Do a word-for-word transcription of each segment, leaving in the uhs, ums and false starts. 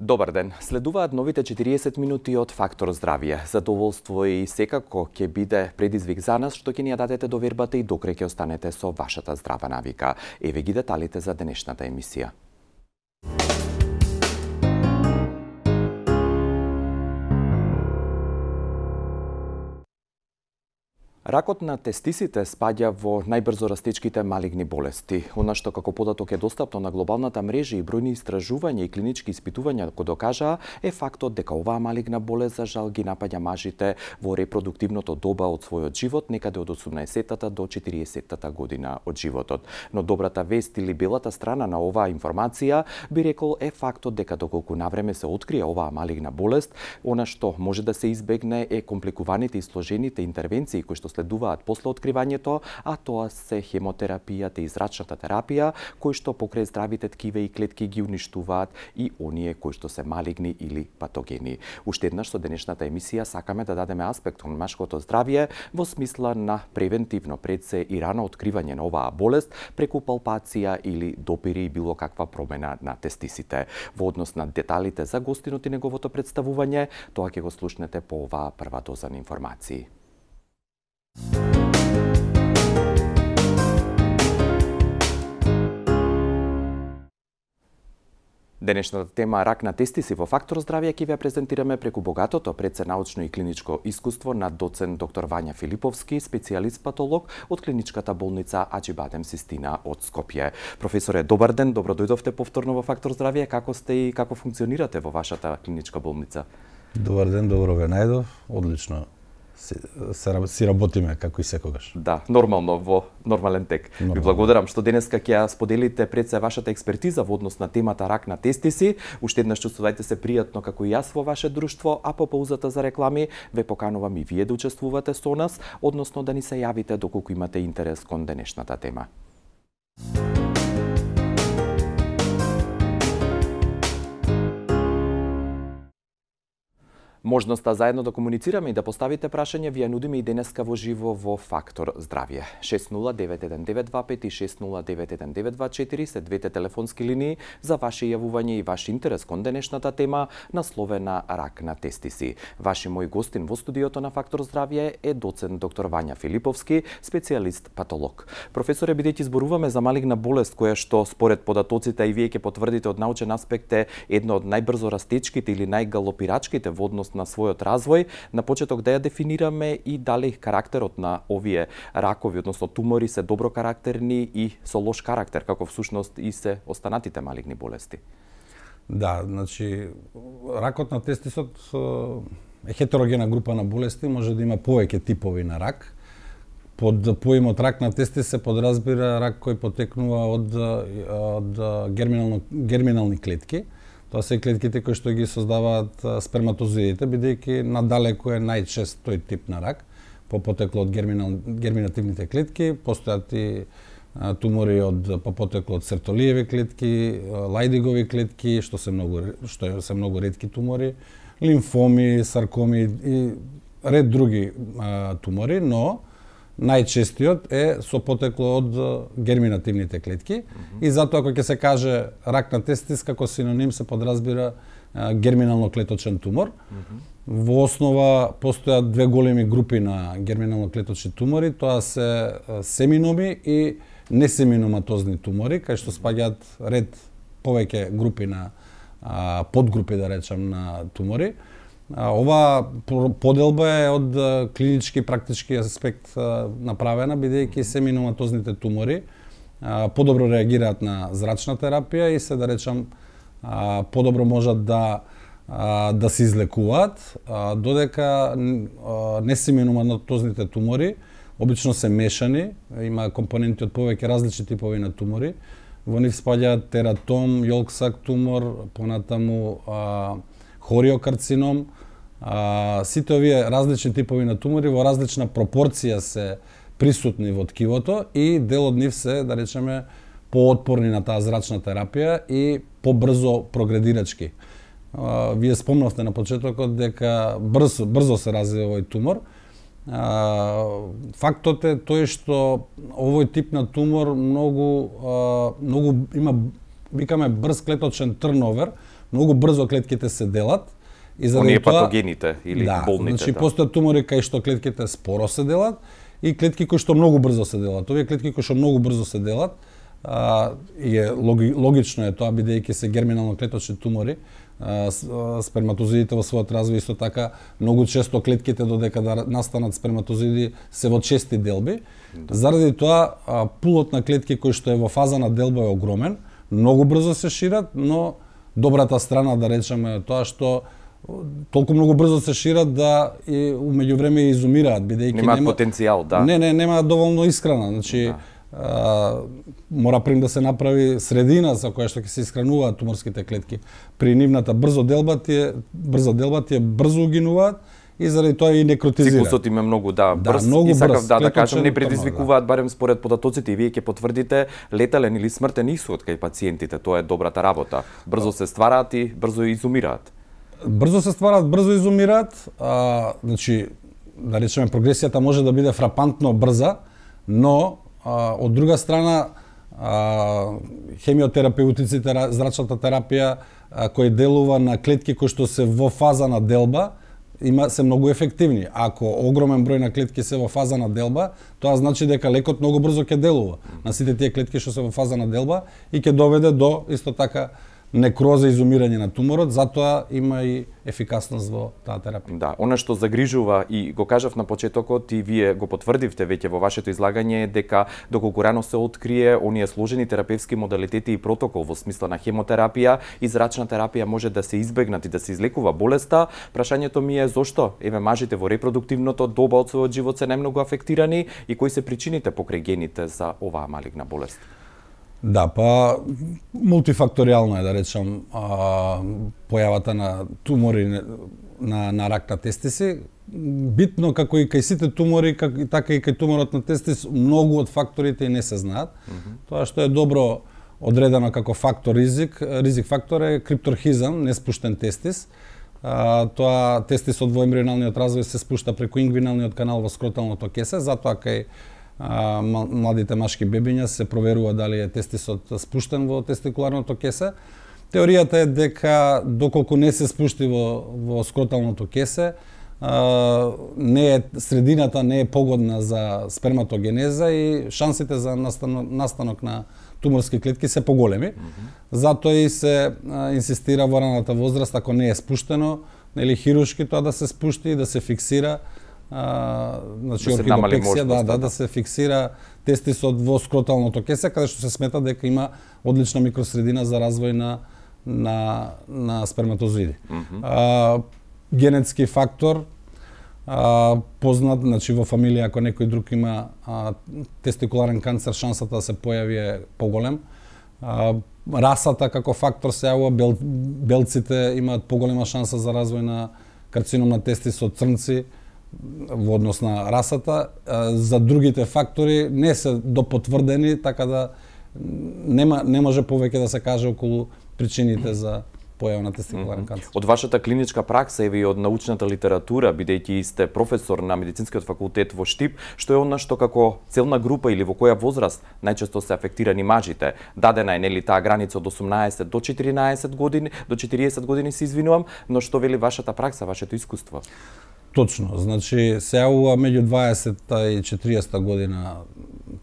Добар ден. Следуваат новите четириесет минути од Фактор здравје. Задоволство и секако ќе биде предизвик за нас што ќе ни ја дадете довербата и докрај ќе останете со вашата здрава навика. Еве ги деталите за денешната емисија. Ракот на тестисите спаѓа во најбрзо растечките малигни болести. Она што како податок е достапно на глобалната мрежа и бројни истражувања и клинички испитувања го докажаа е фактот дека оваа малигна болест за жал ги напаѓа мажите во репродуктивното доба од својот живот, некаде од осумнаесеттата до четириесеттата година од животот. Но добрата вест или белата страна на оваа информација би рекол е фактот дека доколку навреме се открие оваа малигна болест, она што може да се избегне е компликуваните и сложените интервенции кои што следуваат после откривањето, а тоа се хемотерапијата и зрачната терапија, кои што покрај здравите ткиве и клетки ги уништуваат и оние кои што се малигни или патогени. Уште еднаш со денешната емисија сакаме да дадеме аспект на машкото здравје во смисла на превентивно пред се и рано откривање на оваа болест преку палпација или допири и било каква промена на тестисите. Во однос на деталите за гостинот и неговото представување, тоа ќе го слушнете по оваа прва доза на информации. Денешната тема рак на тестиси во Фактор здравје ќе ве презентираме преку богатото предсенаучно и клиничко искуство на доцент доктор Вања Филиповски, специјалист патолог од клиничката болница Аџибадем Систина од Скопје. Професоре, добар ден, добро дојдовте повторно во Фактор здравје. Како сте и како функционирате во вашата клиничка болница? Добар ден, добро ве најдов. Одлично. Си, си работиме како и секогаш. Да, нормално, во нормален тек. Нормално. Ви благодарам што денеска ќе ја споделите пред се вашата експертиза во однос на темата рак на тестиси. Уште еднаш чувствувајте се пријатно како и јас во ваше друштво, а по паузата за реклами ве поканувам и вие да учествувате со нас, односно да ни се јавите доколку имате интерес кон денешната тема. Можноста заедно да комуницираме и да поставите прашање ви ја нудиме и денеска во живо во Фактор здравје. шест нула девет еден девет два пет и шест нула девет еден девет два четири се двете телефонски линии за ваше јавување и ваш интерес кон денешната тема насловена рак на тестиси. Ваши мој гостин во студиото на Фактор здравје е доцент доктор Вања Филиповски, специјалист патолог. Професоре, бидејќи зборуваме за малигна болест која што според податоците и вие ќе потврдите од научен аспект е едно од најбрзо растечките или најгалопирачките во однос на својот развој, на почеток да ја дефинираме и дали карактерот на овие ракови, односно тумори, се добро карактерни и со лош карактер, како всушност и се останатите малигни болести. Да, значи, ракот на тестисот е хетерогена група на болести, може да има повеќе типови на рак. Под поимот рак на тестис се подразбира рак кој потекнува од, од герминално, герминални клетки. Тоа се клетките кои што ги создаваат сперматозоидите, бидејќи надалеку е најчест тој тип на рак, по потекло од герминал, герминативните клетки, постојат и тумори од по потекло од сертолиеви клетки, лајдигови клетки, што се многу што се многу ретки тумори, лимфоми, саркоми и ред други а, тумори, но најчестиот е со потекло од герминативните клетки. Mm-hmm. И затоа кога ќе се каже рак на тестис, како синоним се подразбира герминално клеточен тумор. Mm-hmm. Во основа постојат две големи групи на герминално клеточни тумори, тоа се семиноми и несеминоматозни тумори, кај што спаѓаат ред повеќе групи на а, подгрупи, да речам, на тумори. Ова поделба е од клинички и практички аспект направена, бидејќи семиноматозните тумори подобро реагираат на зрачна терапија и се, да речам, подобро можат да да се излекуваат, додека несеминоматозните тумори обично се мешани, има компоненти од повеќе различни типови на тумори. Во нив спаѓаат тератом, јолксак тумор, понатаму хориокарцином. А, сите овие различни типови на тумори во различна пропорција се присутни во ткивото и дел од нив се, да речеме, поотпорни на таа зрачна терапија и побрзо прогредирачки. А, вие спомнавте на почетокот дека брзо, брзо се развива овој тумор. А, фактот е тој што овој тип на тумор многу, а, многу има, викаме, брз клеточен трновер, многу брзо клетките се делат. И заради оние тоа, патогените или да, болните. Значи да. постојат тумори кај што клетките споро се делат и клетки кои што многу брзо се делат. Овие клетки кои што многу брзо се делат, а, и е логи, логично е тоа бидејќи се герминално клеточни тумори, а, сперматозидите во својот развој исто така многу често клетките додека да настанат сперматозиди се во чести делби. Да. Заради тоа а, пулот на клетки кои што е во фаза на делба е огромен, многу брзо се шират, но добрата страна да речеме е тоа што толку многу брзо се шират да и умеѓу време изумираат бидејќи немаат нема потенцијал, да. Не, не, немаат доволно исхрана, значи да. а, мора прим да се направи средина за која што ќе се исхрануваат туморските клетки. При нивната брзо делба тие брза делба тие брзо угинуваат и заради тоа и некротизираат. Циклусот им е многу да, брз да, многу и сакав брз, да да кажам не предизвикуваат да. барем според податоците и вие ќе потврдите летален или смртен исход кај пациентите, тоа е добрата работа. Брзо се ствараат и брзо изумираат. Брзо се ствараат, брзо изумираат, а, значи, да речеме, прогресијата може да биде фрапантно брза, но, а, од друга страна, а, хемиотерапевтиците, зрачната терапија, а, кој делува на клетки кои што се во фаза на делба, има се многу ефективни. Ако огромен број на клетки се во фаза на делба, тоа значи дека лекот многу брзо ќе делува на сите тие клетки што се во фаза на делба и ќе доведе до, исто така, некроза, изумирање на туморот, затоа има и ефикасност во таа терапија. Да, она што загрижува и го кажав на почетокот и вие го потврдивте веќе во вашето излагање е дека доколку рано се открие оние сложени терапевски модалитети и протокол во смисла на хемотерапија и зрачна терапија може да се избегнат и да се излекува болеста. Прашањето ми е зошто еве мажите во репродуктивното доба од својот живот се најмногу афектирани и кои се причините покрај гените за оваа малигна болест? Да, па мултифакторијално е да речам а, појавата на тумори на на рак на тестиси. Битно како и кај сите тумори, как, така и кај туморот на тестис, многу од факторите и не се знаат. Mm -hmm. Тоа што е добро одредено како фактор ризик, ризик фактор е крипторхизам, неспуштен тестис. А, тоа тестисот во ембрионалниот развој се спушта преку ингвиналниот канал во скроталното кесе, затоа кај А, младите машки бебиња се проверува дали е тестисот спуштен во тестикуларното кесе. Теоријата е дека доколку не се спушти во, во скроталното кесе, а, не е средината не е погодна за сперматогенеза и шансите за настанок, настанок на туморски клетки се поголеми. Mm -hmm. Затоа и се а, инсистира во раната возраст, ако не е спуштено, нели хируршки тоа да се спушти и да се фиксира. А, значи да орхидопексија, да, да, да се фиксира тестисот во скроталното кесе, каде што се смета дека има одлична микросредина за развој на на на сперматозиди. Mm -hmm. а, генетски фактор а, познат, значи во фамилија ако некој друг има а, тестикуларен канцер, шансата да се појави е поголем. А, расата како фактор се јавува, бел, белците имаат поголема шанса за развој на карцином на тестис од црнци во однос на расата. За другите фактори не се допотврдени, така да нема не може повеќе да се каже околу причините за појава на тестикуларен mm -hmm. канцер. Од вашата клиничка пракса и од научната литература, бидејќи сте професор на медицинскиот факултет во Штип, што е она што како целна група или во која возраст најчесто се афектирани мажите? Дадена е нели таа граница од осумнаесет до четиринаесет години, до четириесет години се извинувам, но што вели вашата пракса, вашето искуство? Точно, значи се јавува меѓу дваесетта и четириесетта година,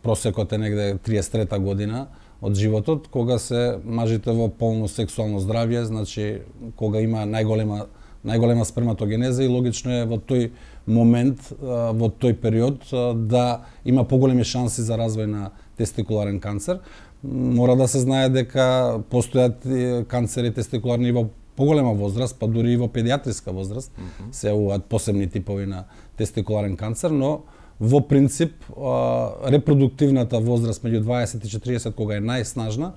просекот е негде триесет и трета година од животот, кога се мажите во полно сексуално здравје, значи кога има најголема најголема сперматогенеза и логично е во тој момент, во тој период да има поголеми шанси за развој на тестикуларен канцер. Мора да се знае дека постојат канцери тестикуларни во поголема возраст, па дури и во педиатриска возраст, mm -hmm. се јавуваат посебни типови на тестикуларен канцер, но во принцип репродуктивната возраст меѓу дваесет и четириесет кога е најснажна,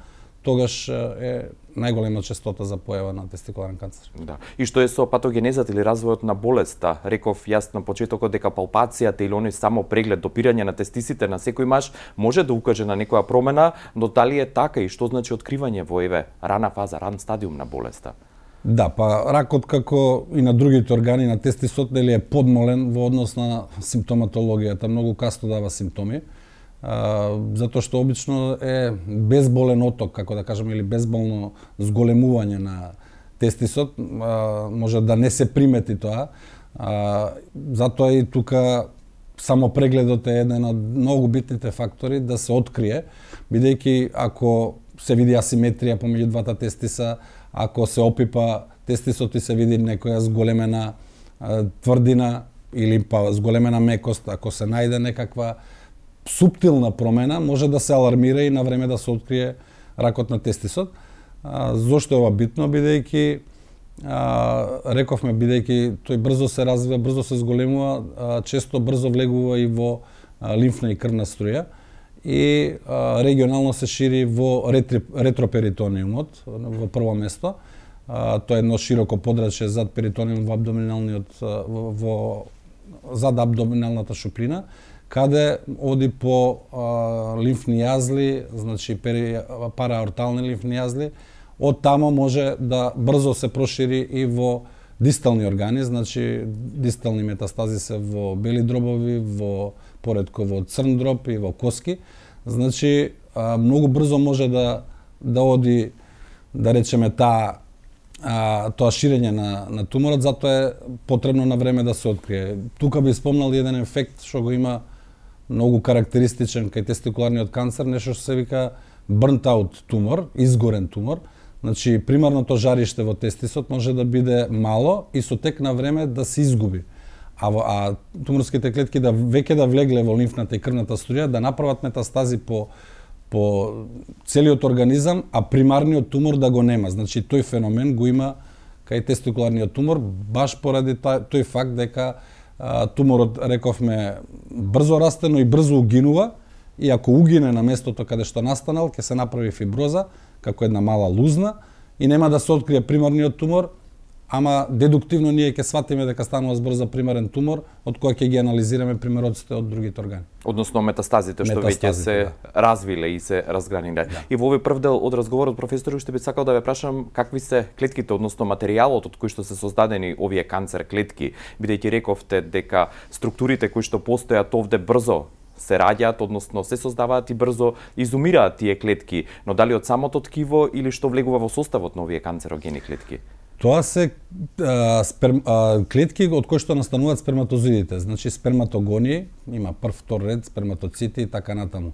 тогаш е најголема честота за појава на тестикуларен канцер. Да. И што е со патогенезата или развојот на болеста? Реков јас на почетокот дека палпацијата или оној само преглед, допирање на тестисите на секој маж може да укаже на некоја промена, но дали е така и што значи откривање во еве рана фаза, ран стадиум на болеста? Да, па ракот како и на другите органи на тестисот нели е подмолен во однос на симптоматологијата, многу касно дава симптоми, а, затоа што обично е безболен оток, како да кажеме, или безболно зголемување на тестисот, а, може да не се примети тоа. А, затоа и тука само прегледот е еден од многу битните фактори да се открие, бидејќи ако се види асиметрија помеѓу двата тестиса, ако се опипа тестисот и се види некоја зголемена а, тврдина или па зголемена мекост, ако се најде некаква суптилна промена, може да се алармира и на време да се открие ракот на тестисот. А, зошто е ова битно? Бидејќи а, рековме, бидејќи тој брзо се развива, брзо се зголемува, а, често брзо влегува и во а, лимфна и крвна струја и а, регионално се шири во ретри, ретроперитониумот во прво место. А, тоа е едно широко подрачје зад перитониум во абдоминалниот во, во зад абдоминалната шуприна, каде оди по а, лимфни јазли, значи пери, параортални лимфни јазли, од тамо може да брзо се прошири и во дистални органи, значи дистални метастази се во бели дробови, во поредко во црн дроб и во коски. Значи а, многу брзо може да да оди, да речеме, таа а, тоа ширење на, на туморот, затоа е потребно на време да се открие. Тука би спомнал еден ефект што го има многу карактеристичен кај тестикуларниот канцер, нешто што се вика burnt out тумор, изгорен тумор. Значи, примарното жариште во тестисот може да биде мало и со тек на време да се изгуби. А, а туморските клетки да веќе да влегле во лимфната и крвната струја, да направат метастази по по целиот организам, а примарниот тумор да го нема. Значи, тој феномен го има кај тестикуларниот тумор, баш поради тој факт дека а, туморот, рековме, брзо расте, но и брзо угинува, и ако угине на местото каде што настанал, ќе се направи фиброза, како една мала лузна, и нема да се открие примарниот тумор, ама дедуктивно ние ќе сватиме дека станува збор за примарен тумор, од кој ќе ги анализираме примероците од другите органи. Односно метастазите што веќе се да. развиле и се разграниле. Да. И во овој прв дел од разговорот, професор, уште би сакал да ве прашам какви се клетките, односно материјалот од кој што се создадени овие канцер клетки, бидејќи рековте дека структурите кои што постојат овде брзо се раѓаат, односно се создаваат и брзо изумираат тие клетки, но дали од самото ткиво или што влегува во составот на овие канцерогени клетки? Тоа се а, сперм, а, клетки од кои што настануваат сперматозидите, значи сперматогони, има прв, втор ред, сперматоцити и така натаму.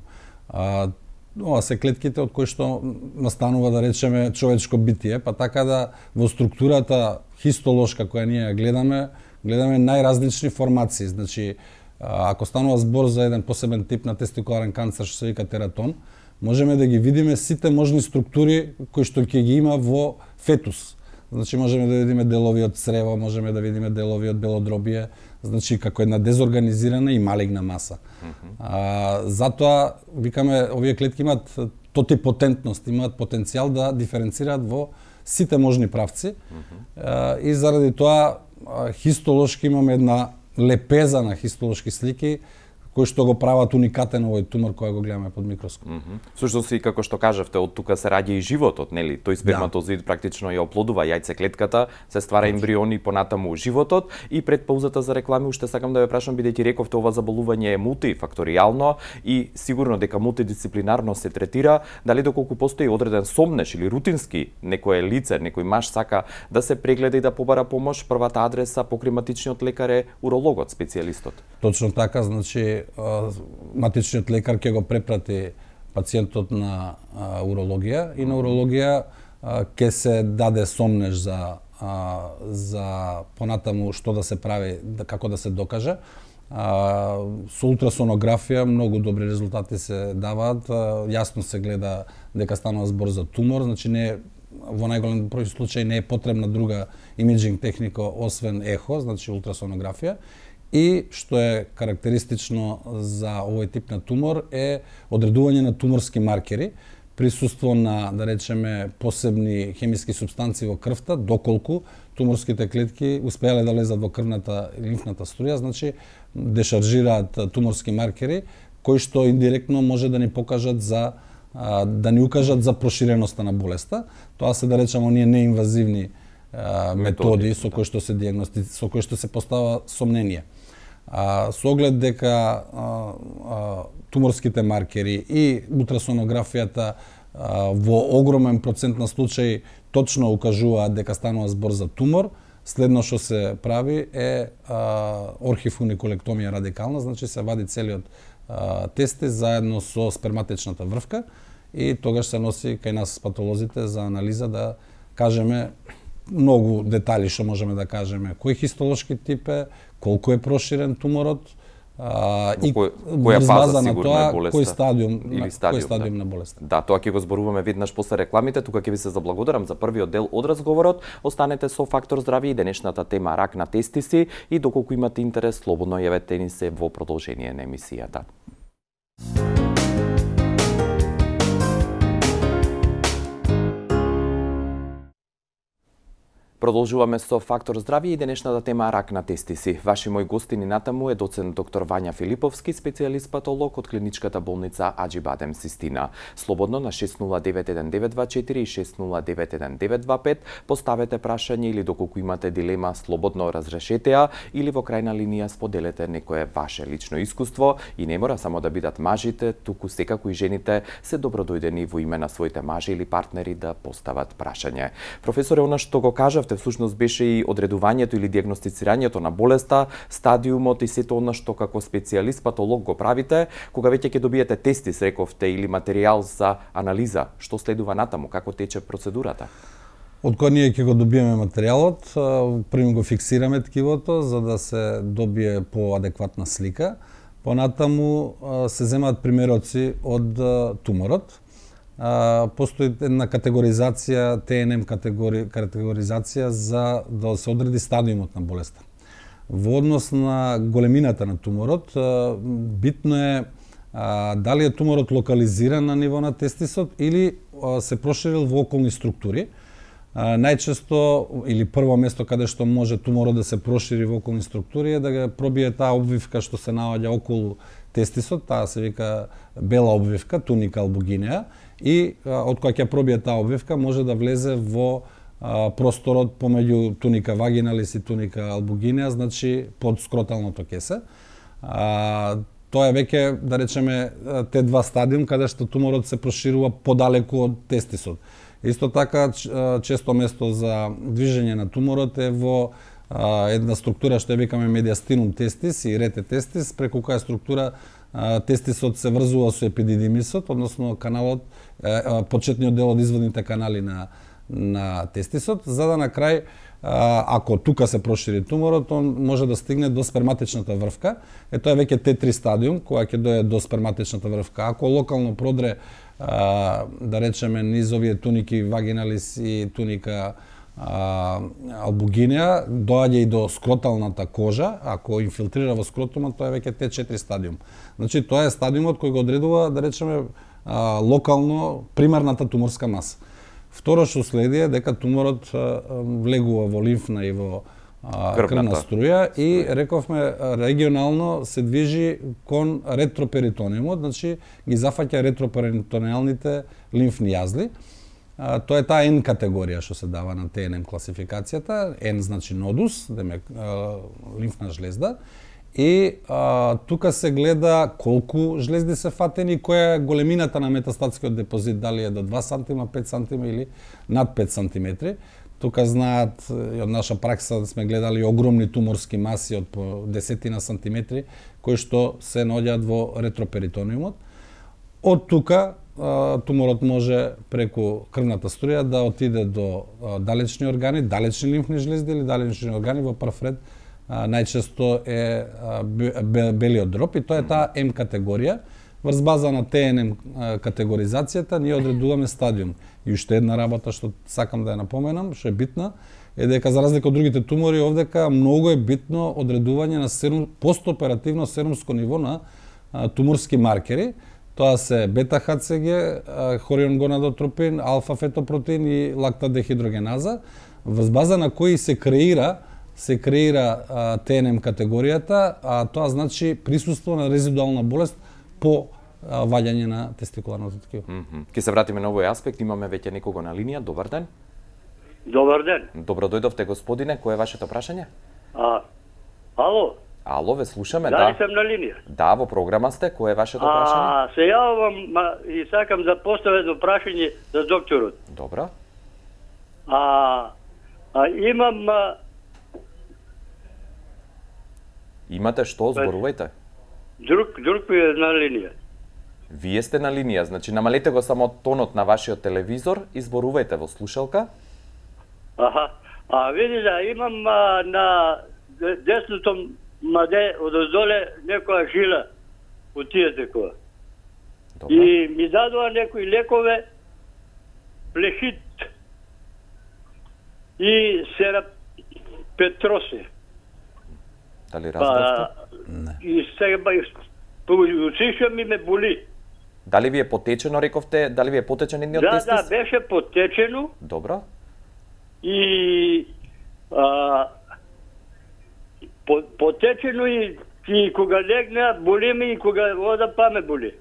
А, ова се клетките од кои што настанува, да речеме, човечко битие, па така да во структурата хистолошка која ние гледаме, гледаме најразлични формации. Значи, ако станува збор за еден посебен тип на тестикуларен канцер што се вика тератон, можеме да ги видиме сите можни структури кои што ќе ги има во фетус. Значи можеме да видиме делови од црево, можеме да видиме делови од белодробие, значи како една дезорганизирана и малигна маса. Mm-hmm. А, затоа викаме овие клетки имаат тотипотентност, имаат потенцијал да диференцираат во сите можни правци. Mm-hmm. а, и заради тоа хистолошки имаме една лепеза на хистолошки слики кои што го прават уникатен овој тумор кој го гледаме под микроскоп. Mm -hmm. Всушност и како што кажавте, од тука се раѓа и животот, нели? Тој сперматозид да. практично ја оплодува јајцеклетката, се ствара ембриони понатаму животот. И пред паузата за реклами уште сакам да ве прашам, бидејќи рековте ова заболување е мултифакторијално и сигурно дека мултидисциплинарно се третира, дали доколку постои одреден сомнеш или рутински некое лице, некој маж сака да се прегледа и да побара помош, првата адреса покрај матичниот лекар е урологот, специјалистот. Точно така, значи матичниот лекар ќе го препрати пациентот на а, урологија и на урологија ќе се даде сомнеш за а, за понатаму што да се прави, да, како да се докаже. А, со ултрасонографија многу добри резултати се даваат, а, јасно се гледа дека станува збор за тумор, значи не во најголем број случаи не е потребна друга имиджинг техника освен ехо, значи ултрасонографија. И што е карактеристично за овој тип на тумор е одредување на туморски маркери, присуство на, да речеме, посебни хемиски супстанции во крвта, доколку туморските клетки успеале да лезат во крвната и лимфната струја, значи дешаржираат туморски маркери кои што индиректно може да ни покажат за да ни укажат за проширеноста на болеста. Тоа се, да речеме, оние неинвазивни методи, методи со кои што се диагности, со кои што се постава сомнение. А, со оглед дека а, а, туморските маркери и ултрасонографијата а, во огромен процент на случаи точно укажуваат дека станува збор за тумор. Следно што се прави е а, орхифуниколектомија радикална, значи се вади целиот а, тестис заедно со сперматичната врвка и тогаш се носи кај нас патолозите за анализа да кажеме многу детали што можеме да кажеме, кој хистолошки тип е, колку е проширен туморот, а, и која фаза сигурно тоа, е болеста кој стадиум, или на, стадиум, кој стадиум да. на болеста. Да, тоа ќе го зборуваме веднаш после рекламите. Тука ќе ви се заблагодарам за првиот дел од разговорот. Останете со Фактор здравје и денешната тема рак на тестиси и доколку имате интерес, слободно јавете ни се во продолжение на емисијата. Продолжуваме со Фактор здравје и денешната тема рак на тестиси. Ваши мои гостини натаму е доцент доктор Вања Филиповски, специјалист патолог од клиничката болница Аџибадем Систина. Слободно на шест нула девет еден девет два четири и шест нула девет еден девет два пет поставете прашање или доколку имате дилема, слободно разрешете ја или во крајна линија споделете некое ваше лично искуство и не мора само да бидат мажите, туку секако и жените се добродојдени во име на своите мажи или партнери да постават прашање. Професоре, она што го кажавте всушност беше и одредувањето или дијагностицирањето на болеста, стадиумот и сето она што како специјалист патолог го правите, кога веќе ќе добиете тестис, рековте, или материјал за анализа, што следува натаму, како тече процедурата? Од кога ние ќе го добиеме материјалот, прво го фиксираме ткивото за да се добие поадекватна слика. Понатаму се земаат примероци од туморот. Uh, постои една категоризација, Т Н М категори, категоризација за да се одреди стадиумот на болеста. Во однос на големината на туморот, uh, битно е uh, дали е туморот локализиран на ниво на тестисот или uh, се проширил во околни структури. Uh, најчесто, или прво место каде што може туморот да се прошири во околни структури е да го пробие таа обвивка што се наоѓа околу тестисот, таа се вика бела обвивка, туника албугинеа, и а, од која ќе пробие таа обвивка може да влезе во а, просторот помеѓу туника вагиналис и туника албугинеа, значи под скроталното кесе. А, тоа е веќе, да речеме, те два стадиум каде што туморот се проширува подалеку од тестисот. Исто така, често место за движење на туморот е во а, една структура што ја викаме медиастинум тестис и рете тестис, преку која структура а, тестисот се врзува со епидидимисот, односно каналот, а, почетниот дел од изводните канали на, на тестисот, за да на крај, а, ако тука се прошири туморот, он може да стигне до сперматичната врвка. Е, тоа е веќе Т три стадиум, која ќе дојде до сперматичната врвка. Ако локално продре, а, да речеме, низ овие туники вагиналис и туника а, албугинеа, доаѓа и до скроталната кожа. Ако инфилтрира во скротумот, тоа е веќе Т четири стадиум. Значи, тоа е стадиумот кој го одредува, да речеме, а, локално примарната туморска маса. Второ што следи е дека туморот а, влегува во лимфна и во а, крвна струја и рековме регионално се движи кон ретроперитониумот, значи ги зафаќа ретроперитониалните лимфни јазли. А, тоа е таа Н категорија што се дава на Т Н М класификацијата. Н значи нодус, демек лимфна жлезда. И а, тука се гледа колку жлезди се фатени, која е големината на метастатскиот депозит, дали е до два сантима, пет сантима или над пет сантиметри. Тука знаат, и од наша пракса сме гледали огромни туморски маси од по десетина сантиметри, кои што се наоѓаат во ретроперитониумот. Од тука туморот може преку крвната струја да отиде до далечни органи, далечни лимфни жлезди или далечни органи во прв ред. Најчесто е белиот дроб и тоа е таа М категорија. Врз база на Т Н М категоризацијата ние одредуваме стадиум. И уште една работа што сакам да ја напоменам, што е битна, е дека за разлика од другите тумори овдека многу е битно одредување на серум, постоперативно серумско ниво на а, туморски маркери. Тоа се бета-Х Ц Г, хорион гонадотропин, алфа-фетопротеин и лактадехидрогеназа, врз база на кои се креира се креира а, Т Н М категоријата, а тоа значи присуство на резидуална болест по а, ваѓање на тестикуларното ткиво. Mm -hmm. Ке се вратиме на овој аспект, имаме веќе некого на линија. Добар ден. Добар ден. Добро дојдовте, господине. Кој е вашето прашање? А, ало? Ало, ве слушаме, да. Дали сам на линија? Да, во програма сте. Кој е вашето прашање? А, се јавам и сакам да поставам едно прашање за докторот. Добро. А, а имам а, Имате што, зборувајте? друг друг ми е на линија. Вие сте на линија, значи намалете го само тонот на вашиот телевизор и зборувајте во слушалка. Аха. А види да имам а, на десното маде одоздоле некоја жила од тие такова. Добро. И ми дадува некои лекове, плехит и сера петросе. Дали разбравте? Не. И сега ба усиша ми ме боли. Дали ви е потечено, рековте, дали ви е потечен едниот Да, тестис? да, беше потечено Добро. и а, по, потечено и, и кога легна боли ми и кога ода па ме боли.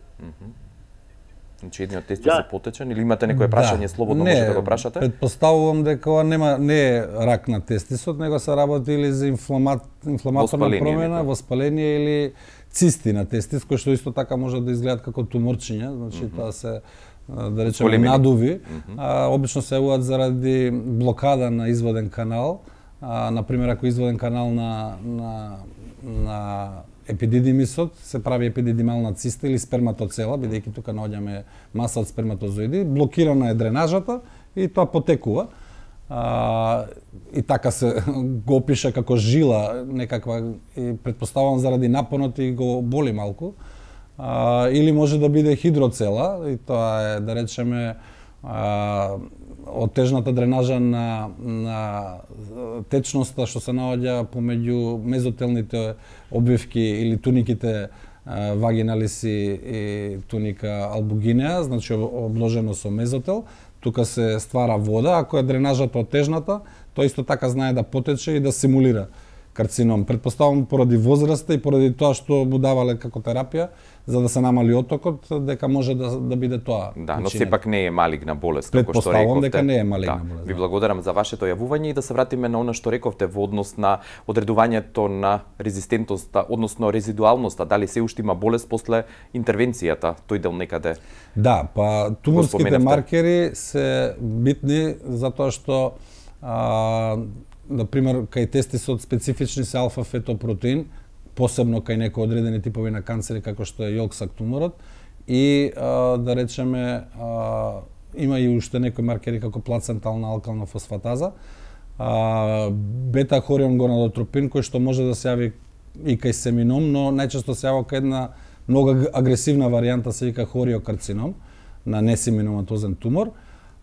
Значи едниот тестис Да. е потечен или имате некое прашање, слободно не, можете да го прашате? Предпоставувам дека ова нема не е рак на тестисот, него се работи или за инфлама, инфламаторна Воспаление промена, некој. воспаление или цисти на тестис, кои што исто така може да изгледаат како туморчиња, значи mm -hmm. тоа се а, да речеме Големини. надуви, mm Мгм. а, обично се јавуваат заради блокада на изводен канал, а, на пример ако изводен канал на на на епидидимисот, се прави епидидимална циста или сперматоцела, бидејќи тука наоѓаме маса од сперматозоиди, блокирана е дренажата и тоа потекува. А, и така се го опиша како жила некаква, и предпоставувам заради напонот и го боли малку. А, или може да биде хидроцела, и тоа е, да речеме, а, оттежната дренажа на, на течноста што се наоѓа помеѓу мезотелните обвивки или туниките а, вагиналис и туника албугинеа, значи обложено со мезотел. Тука се ствара вода, ако е дренажата оттежната, тоа исто така знае да потече и да симулира карцином. Предпоставам поради возраста и поради тоа што му давале како терапија, за да се намали отокот, дека може да, да биде тоа. Да, но причината. сепак не е малигна болест, како што Предпоставам рековте. дека не е малигна да. болест, Ви да. благодарам за вашето јавување и да се вратиме на она што рековте во однос на одредувањето на резистентноста, односно резидуалноста, дали се уште има болест после интервенцијата, тој дел некаде. Да, па туморските споменавте. маркери се битни затоа што а, например кај тестисот специфични се алфа-фетопротеин, посебно кај некои одредени типови на канцери како што е јолксак туморот, и а, да речеме а, има и уште некои маркери како плацентална алкална фосфатаза, а, бета-хорион гонадотропин кој што може да се јави и кај семином, но најчесто се јавува кај една многу агресивна варијанта, се вика хориокарцином на несеминоматозен тумор.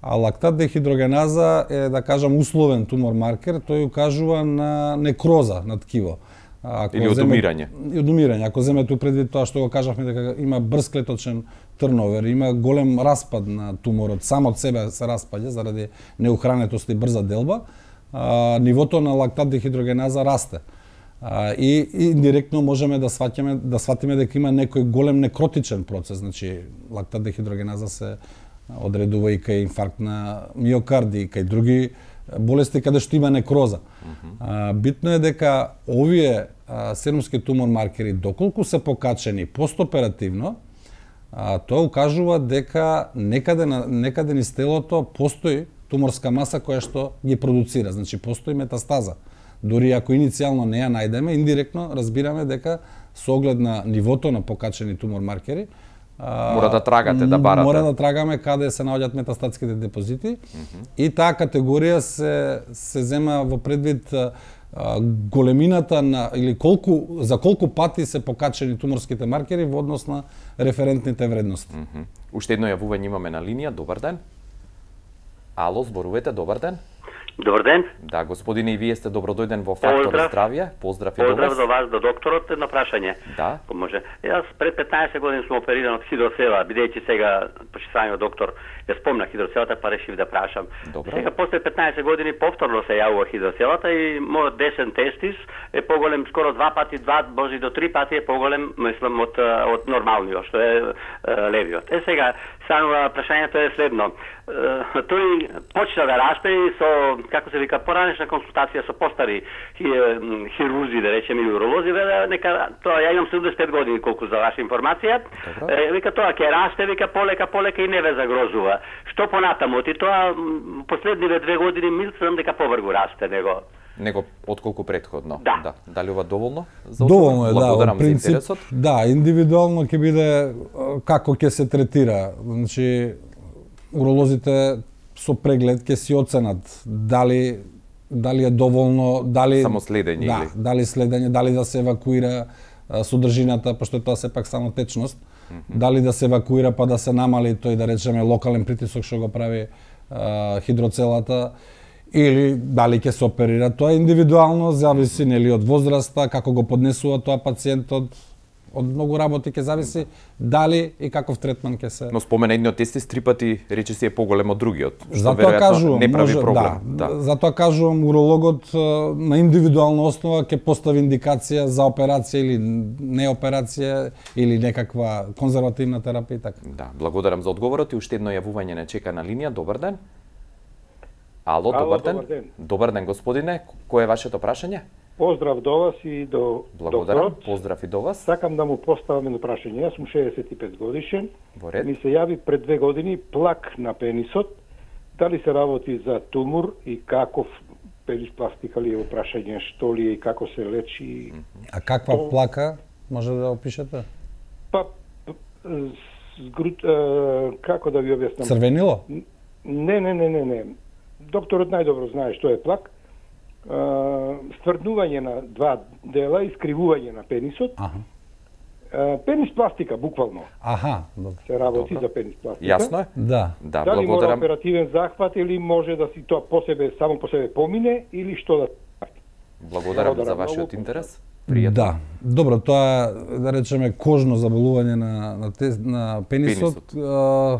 А лактат дехидрогеназа е, да кажам, условен тумор маркер, тој укажува на некроза на ткиво. Ако Или одумирање. И одумирање. Ако земете у предвид тоа што го кажавме дека има брз клеточен трновер, има голем распад на туморот, сам од себе се распаѓа заради неухранетост и брза делба, а, нивото на лактат дехидрогеназа расте. А, и, и индиректно можеме да сватиме да сватиме дека има некој голем некротичен процес, значи лактат дехидрогеназа се одредува и кај инфаркт на миокарди, и кај други болести каде што има некроза. Mm -hmm. а, битно е дека овие а, серумски тумор маркери, доколку се покачени постоперативно, а, тоа укажува дека некаде, некаде низ телото постои туморска маса која што ги продуцира, значи постои метастаза. Дори ако иницијално не ја најдеме, индиректно разбираме дека со оглед на нивото на покачени тумор маркери, Мора да трагате, да барате. Мора да трагаме каде се наоѓаат метастатските депозити, mm -hmm. и таа категорија се се зема во предвид а, големината на или колку за колку пати се покачени туморските маркери во однос на референтните вредности. Mm -hmm. Уште едно јавување имаме на линија. Добар ден. Ало, зборувате, добар ден. Добар ден. Да, господине, и вие сте добродојден во Фактор Поздрав. здравје. Поздрав и до Поздрав вас. до вас, до докторот, едно прашање. Да. Ако може. Јас пред петнаесет години сум опериран од хидроцела, бидејќи сега почитувањето доктор ја спомна хидроцелата, па решив да прашам. Добро. Сега после петнаесет години повторно се јавува хидроцелата и мојот десен тестис е поголем, скоро два пати, два, може и до три пати е поголем, мислам, од, од нормалниот, што е, е левиот. Е сега, само прашањето е следно. Тој почна да расте и со како се вика, поранешна консултација со постари хирурзи, да речеме, и уролози, веле, нека, тоа, ја имам седумдесет и пет години, колку за ваша информација, е, вика, тоа ќе расте, вика, полека, полека и не ве загрозува. Што понатаму, и тоа, последниве две години, мислам дека повргу расте него. Него отколку претходно. Да. да. Дали ова доволно? За доволно е, да. Благодарам Принцип, за интересот. Да, индивидуално ќе биде како ќе се третира. Значи, уролозите со преглед ќе си оценат дали дали е доволно, дали само следење да, или дали следење, дали да се евакуира содржината, пошто тоа се пак само течност. Mm -hmm. Дали да се евакуира па да се намали тој, да речеме, локален притисок што го прави а, хидроцелата, или дали ќе се оперира. Тоа индивидуално зависи, нели, од возраста, како го поднесува тоа пациентот, од многу работи ќе зависи дали и каков третман ќе се. Но спомена едниот тестис три пати речиси е поголем од другиот, што затоа кажувам, не прави може, проблем. Да, да. Затоа кажувам, урологот на индивидуална основа ќе постави индикација за операција или не операција или некаква конзервативна терапија и така. Да, благодарам за одговорот и уште едно јавување не чека на линија. Добар ден. Ало, Ало, добар ден. добар ден. Добар ден, господине. Кој е вашето прашање? Поздрав до вас и до Благодарам. докторот. Поздрав и до вас. Сакам да му поставам едно прашање. Јас сум шеесет и пет годишен. Во ред. Ми се јави пред две години плак на пенисот. Дали се работи за тумор и каков пениспластика ли е прашање, што ли е и како се лечи? А каква То... плака може да опишете? Па згрут, е, како да ви објаснам? Црвенило? Не, не, не, не, не. Докторот најдобро знае што е плак. Стврднување на два дела, искривување на пенисот. Аха. Пенис пластика, буквално. Аха, добро. Се работи Добро. за пенис пластика. Јасно е? Да. Да, Дали мора благодарам. оперативен захват или може да си тоа по себе, само по себе помине или што да... Благодарам за Благодарам вашиот многу. интерес. Пријатно. Да. Добро, тоа е, да речеме, кожно заболување на на, те, на пенисот, Пенисот. а,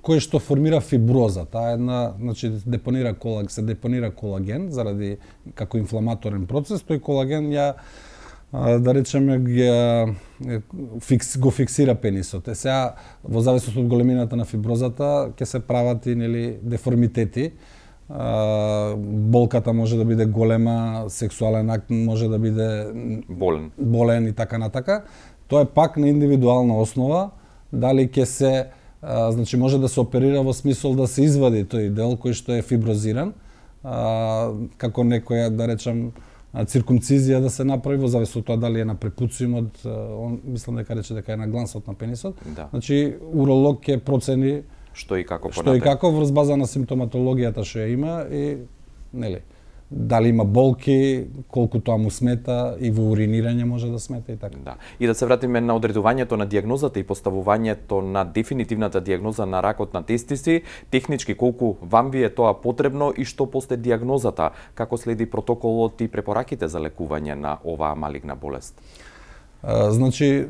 кој што формира фиброза. Таа е една, значи депонира колаг, се депонира колаген заради како инфламаторен процес, тој колаген ја а, да речеме ја фикс, го фиксира пенисот. Е сега во зависност од големината на фиброзата ќе се прават и нели деформитети. Uh, болката може да биде голема, сексуален акт може да биде Болен. болен и така натака. Тоа е пак на индивидуална основа, дали ќе се, uh, значи може да се оперира во смисол да се извади тој дел кој што е фиброзиран, uh, како некоја, да речам, циркумцизија да се направи во зависност од тоа дали е на препуциумот, uh, он мислам дека рече дека е на глансот на пенисот. Да. Значи уролог ќе процени Што и како што и како врз база на симптоматологијата што ја има и нели дали има болки, колку тоа му смета и во уринирање може да смета и така. Да. И да се вратиме на одредувањето на дијагнозата и поставувањето на дефинитивната дијагноза на ракот на тестиси, технички колку вам ви е тоа потребно и што после дијагнозата, како следи протоколот и препораките за лекување на оваа малигна болест? Значи,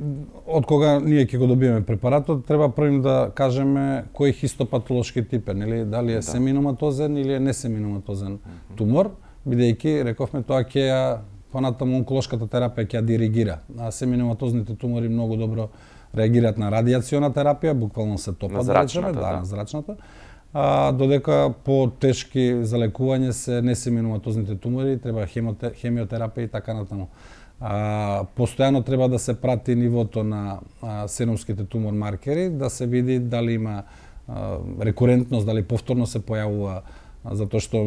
од кога ние ќе го добиеме препаратот, треба првим да кажеме кој хистопатолошки тип е, нели, дали е да. семиноматозен или е несеминоматозен mm -hmm. тумор, бидејќи рековме тоа ќе ја понатаму онколошката терапија ќе ја диригира. А семиноматозните тумори многу добро реагираат на радијациона терапија, буквално се топат, да речеме, да, да, на зрачната. А, додека по тешки за лекување се несеминоматозните тумори, треба хемиотерапија и така натаму. А, постојано треба да се прати нивото на а, сеномските тумор маркери, да се види дали има а, рекурентност, дали повторно се појавува, а, затоа што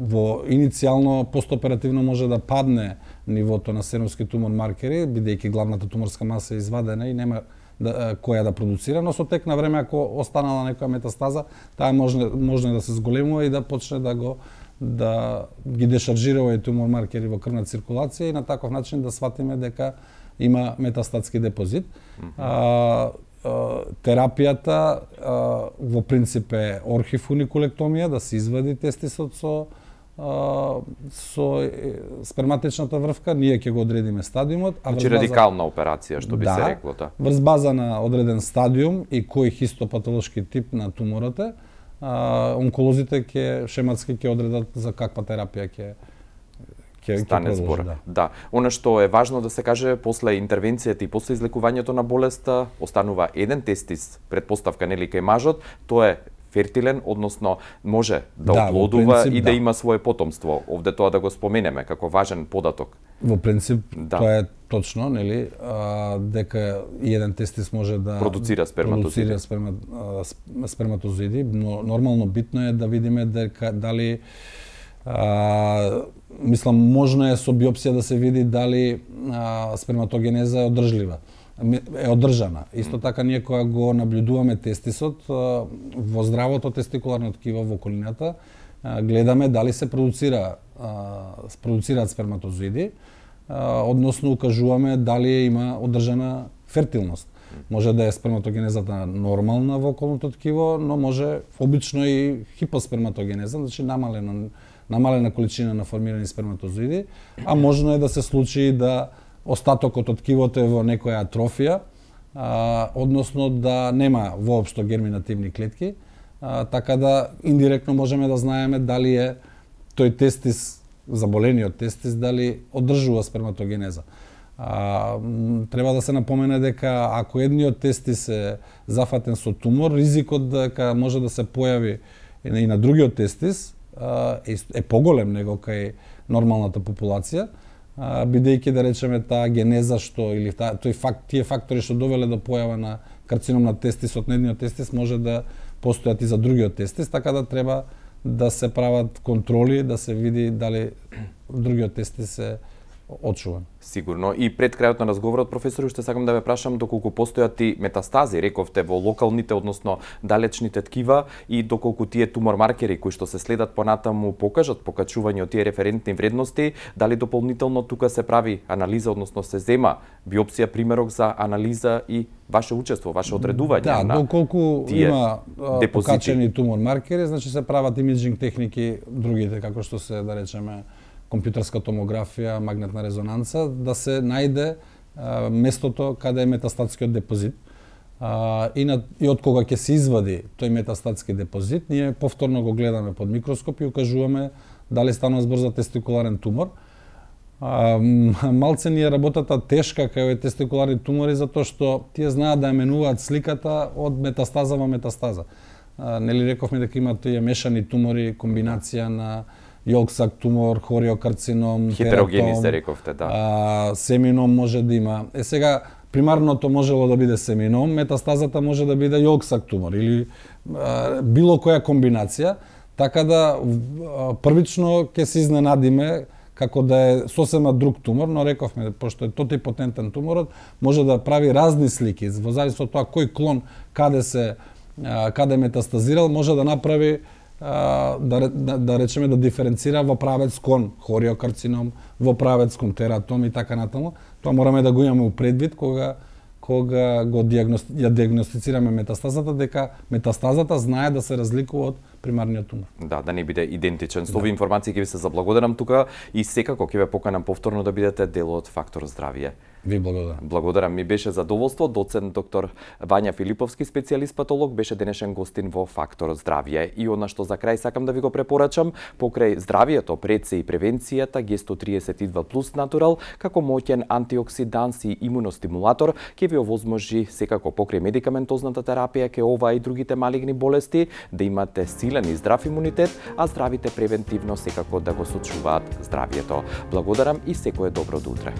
во иницијално постоперативно може да падне нивото на сеномски тумор маркери, бидејќи главната туморска маса е извадена и нема да, која да продуцира, но со тек на време ако останала некоја метастаза, таа може може да се зголемува и да почне да го да ги дешаржира овие тумор маркери во крвна циркулација и на таков начин да сватиме дека има метастатски депозит. Mm -hmm. а, а, терапијата а, во принцип е орхифуникулектомија, да се извади тестисот со а, со сперматичната врвка, ние ќе го одредиме стадиумот, а значи радикална операција што би да, се рекло тоа. Врз база на одреден стадиум и кој хистопатолошки тип на туморот е, а, онколозите ќе шематски ќе одредат за каква терапија ќе ќе стане збор. Да. да. Она што е важно да се каже, после интервенцијата и после излекувањето на болеста останува еден тестис, предпоставка нели кај мажот, тоа е фертилен, односно може да, Да, во оплодува принцип, и да. да има свое потомство. Овде тоа да го споменеме како важен податок. Во принцип, Да. тоа е точно, нели, а, дека еден тестис може да Продуцира сперматозоиди. продуцира сперма, а, сп- сперматозоиди, но нормално битно е да видиме дека дали а, мислам можно е со биопсија да се види дали а, сперматогенеза е одржлива, е одржана. Исто така ние кога го наблюдуваме тестисот а, во здравото тестикуларно ткиво во околината, а, гледаме дали се продуцира а, продуцираат сперматозоиди, а, односно укажуваме дали има одржана фертилност. Може да е сперматогенезата нормална во околното ткиво, но може обично и хипосперматогенеза, значи намалена намалена количина на формирани сперматозоиди, а можно е да се случи да остатокот од ткивото е во некоја атрофија, а, односно да нема воопшто герминативни клетки, а, така да индиректно можеме да знаеме дали е тој тестис, заболениот тестис, дали одржува сперматогенеза. А, треба да се напомене дека ако едниот тестис е зафатен со тумор, ризикот дека може да се појави и на другиот тестис е, е поголем него кај нормалната популација, бидејќи да речеме таа генеза што или таа, тој факт, тие фактори што довеле до појава на карцином на тестисот на едниот тестис може да постојат и за другиот тестис, така да треба да се прават контроли, да се види дали другиот тестис е очуван. Сигурно. И пред крајот на разговорот, професор, уште сакам да ве прашам доколку постојат и метастази, рековте, во локалните, односно далечните ткива и доколку тие тумор маркери кои што се следат понатаму покажат покачување од тие референтни вредности, дали дополнително тука се прави анализа, односно се зема биопсија примерок за анализа и ваше учество, ваше одредување да, на доколку тие има а, депозити. покачени тумор маркери, значи се прават имиджинг техники, другите како што се да речеме компјутерска томографија, магнетна резонанца, да се најде а, местото каде е метастатскиот депозит. А, и, на, и од кога ќе се извади тој метастатски депозит, ние повторно го гледаме под микроскоп и укажуваме дали станува збор за тестикуларен тумор. А, малце ни е работата тешка кај овие тестикуларни тумори, затоа што тие знаат да ја менуваат сликата од метастаза во метастаза. А, нели рековме дека има тие мешани тумори, комбинација на јолксак тумор, хориокарцином, хетерогени се рековте, да. А, семином може да има. Е сега, примарното можело да биде семином, метастазата може да биде јолксак тумор или а, било која комбинација, така да а, првично ќе се изненадиме како да е сосема друг тумор, но рековме, пошто е тотипотентен туморот, може да прави разни слики, во зависност од тоа кој клон каде се а, каде метастазирал, може да направи да, да, да речеме да диференцира во правец кон хориокарцином, во правец кон тератом и така натаму. Тоа мораме да го имаме у предвид кога кога го диагности, ја диагностицираме метастазата, дека метастазата знае да се разликува од примарниот тумор. Да, да не биде идентичен. Со овие информации ќе ви се заблагодарам тука и секако ќе ве поканам повторно да бидете дел од Фактор здравје. Ви благодарам. Благодарам, ми беше задоволство. Доцент доктор Вања Филиповски, специјалист патолог, беше денешен гостин во Фактор здравје. И она што за крај сакам да ви го препорачам, покрај здравието, пред се и превенцијата, Г сто триесет и два плюс Натурал, како моќен антиоксиданс и имуностимулатор, ќе ви овозможи секако покрај медикаментозната терапија ке ова и другите малигни болести да имате силен и здрав имунитет, а здравите превентивно секако да го сочуваат здравието. Благодарам и секое добро до утре.